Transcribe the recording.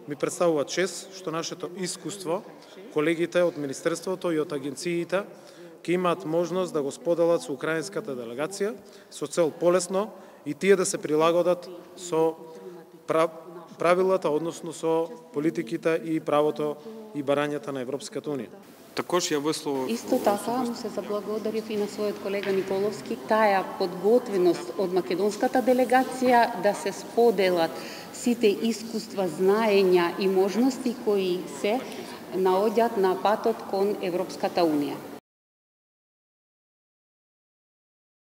ми представува чест што нашето искуство, колегите од Министерството и од агенциите ќе имаат можност да го споделат со украинската делегација со цел полесно и тие да се прилагодат со правилата, односно со политиките и правото и барањата на Европската Унија. Також ја висловив. Исто така му се заблагодарив и на својот колега Николовски таа подготвеност од македонската делегација да се споделат сите искуства, знаења и можности кои се наоѓаат на патот кон Европската Унија.